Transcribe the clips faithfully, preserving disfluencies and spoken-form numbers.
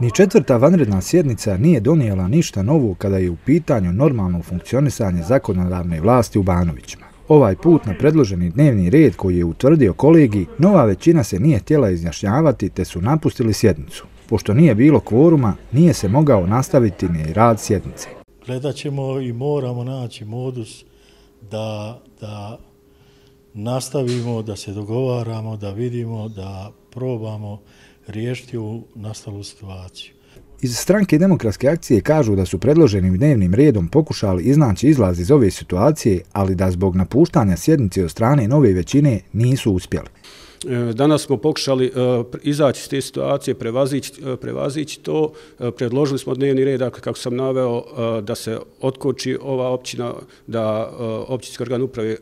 Ni četvrta vanredna sjednica nije donijela ništa novo kada je u pitanju normalno funkcionisanje zakonodavne vlasti u Banovićima. Ovaj put na predloženi dnevni red koji je utvrdio kolegij, nova većina se nije htjela izjašnjavati te su napustili sjednicu. Pošto nije bilo kvoruma, nije se mogao nastaviti ni rad sjednice. Gledat ćemo i moramo naći modus da, da nastavimo, da se dogovaramo, da vidimo, da probamo riješiti ovu nastalu situaciju. Iz stranke Demokratske akcije kažu da su predloženim dnevnim redom pokušali iznaći izlaz iz ove situacije, ali da zbog napuštanja sjednice od strane nove većine nisu uspjeli. Danas smo pokušali izaći iz te situacije, prevazići to. Predložili smo dnevni red, dakle, kako sam naveo, da se otkoči ova općina, da općinski organ uprave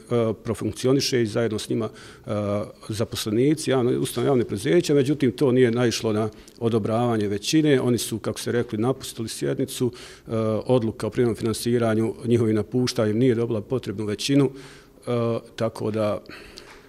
profunkcioniše i zajedno s njima zaposlenici, ustanove javne preduzeća, međutim to nije naišlo na odobravanje većine. Oni su, kako se rekli, napustili sjednicu. Odluka o privremenom finansiranju njihovim napuštanjem nije dobila potrebnu većinu, tako da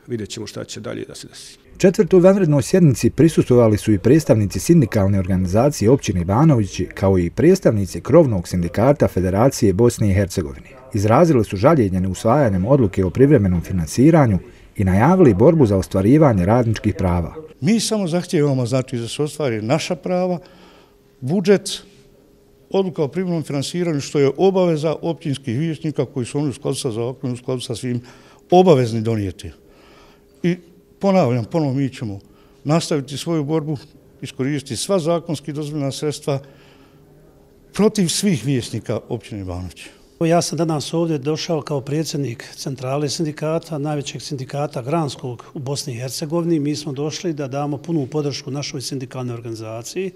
vidjet ćemo šta će dalje da se desi. Četvrtoj vanrednoj sjednici prisustvovali su i predstavnici sindikalne organizacije općine Banovići, kao i predstavnici krovnog sindikata Federacije Bosne i Hercegovine. Izrazili su žaljenje neusvajanjem odluke o privremenom finansiranju i najavili borbu za ostvarivanje radničkih prava. Mi samo zahtijevamo, znači, da se ostvari naša prava, budžet, odluka o privremenom finansiranju, što je obaveza općinskih vijećnika koji su oni u skladu sa zakonom, u skladu sa svim obavezni donijeti. I ponavljam, ponovo mi ćemo nastaviti svoju borbu, iskoristiti sva zakonski dozvoljena sredstva protiv svih vijećnika općine Banovići. Ja sam danas ovdje došao kao predsjednik centrale sindikata, najvećeg sindikata granskog u Bosni i Hercegovini. Mi smo došli da damo punu podršku našoj sindikalnoj organizaciji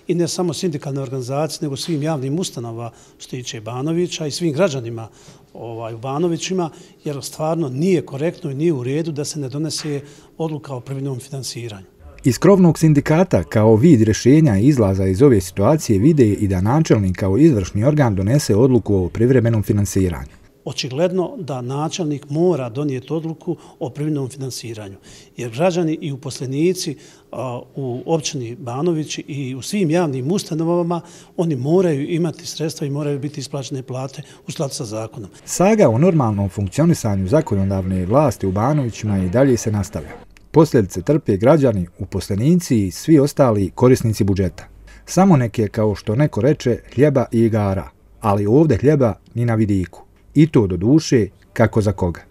i ne samo sindikalnoj organizaciji, nego svim javnim ustanovama što tiče Banovića i svim građanima ovaj, u Banovićima, jer stvarno nije korektno i nije u redu da se ne donese odluka o privremenom finansiranju. Iz krovnog sindikata kao vid rješenja i izlaza iz ove situacije vide i da načelnik kao izvršni organ donese odluku o privremenom finansiranju. Očigledno da načelnik mora donijeti odluku o privremenom finansiranju, jer građani i uposlenici u općini Banovići i u svim javnim ustanovama oni moraju imati sredstva i moraju biti isplaćene plate u skladu sa zakonom. Saga o normalnom funkcionisanju zakonodavne vlasti u Banovićima i dalje se nastavlja. Posljedice trpe građani, uposlenici i svi ostali korisnici budžeta. Samo neke, kao što neko reče, hljeba i igara, ali ovdje hljeba ni na vidiku. I to do duše, kako za koga.